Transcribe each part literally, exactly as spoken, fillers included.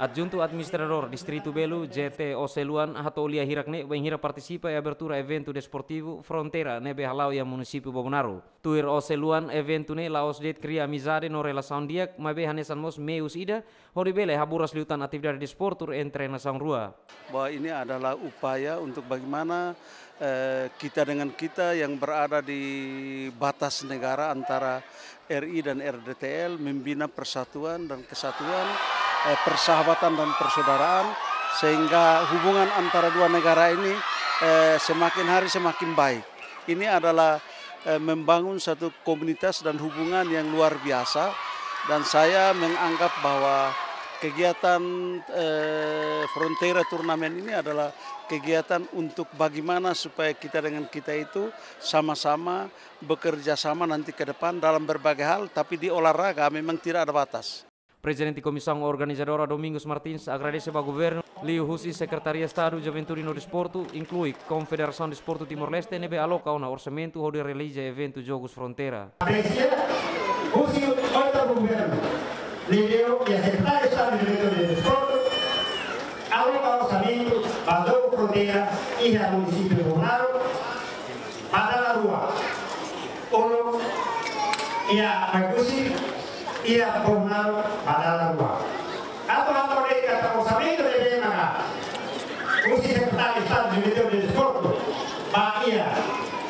Adjuntu Administradór Distritu Belu, J T Oseluan, hato'o lia hirak ne'e bainhira partisipa iha abertura eventu desportivu Fronteira ne'ebé hala'o iha munisípiu Bobonaro. Tuir Oseluan, eventu ne'e la'ós de'it kria amizade no relasaun di'ak, maibé hanesan mós meius ida hodi bele haburas liután atividade desportu entre nasaun rua. Bahwa ini adalah upaya untuk bagaimana, eh, kita dengan kita yang berada di batas negara antara R I dan R D T L membina persatuan dan kesatuan, eh, persahabatan dan persaudaraan, sehingga hubungan antara dua negara ini, eh, semakin hari semakin baik. Ini adalah, eh, membangun satu komunitas dan hubungan yang luar biasa, dan saya menganggap bahwa kegiatan, eh, Fronteira Turnamen ini adalah kegiatan untuk bagaimana supaya kita dengan kita itu sama-sama bekerja sama nanti ke depan dalam berbagai hal, tapi di olahraga memang tidak ada batas. Prezidente Komisaun Organizadora Domingos Martins agradese ba governu, liuhusi Sekretaria Estadu Juventude no Desportu, inklui Konfederasaun Desportu Timor-Leste ne'ebé aloka ona orsamentu hodi realiza eventu Jogus Fronteira. Apresia husi oitavu governu, liuliu iha Sekretaria Estadu Juventude no Desportu, aloka orsamentu ba Jogu Fronteira iha munisípiu Bobonaro, ba dala rua. Uluk iha Oekusi, iha Bobonaro ba dala rua. Atu hato'o de'it katak orsamentu ne'ebé maka husi Sekretaria Estadu Juventude no Desportu ba iha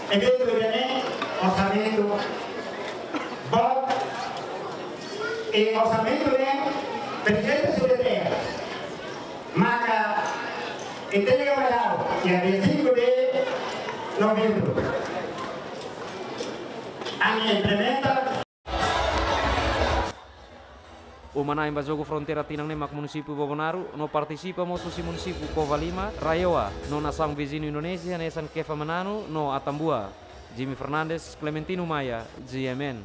eventu ida-ne'e, orsamentu boot, i orsamentu ne'e Prezidente C D T L maka entrega mai ha'u iha dia cinco de novembro. Ami implementa. Uma-na'in ba Jogu Fronteira tinan ne'e mak munisípiu Bobonaro, no partisipa mós husi munisípiu Covalima, Raioa, no nasaun viziñu Indonézia hanesan Kefamananu no Atambua. Jimmy Fernandes, Clementino Maia, G M N.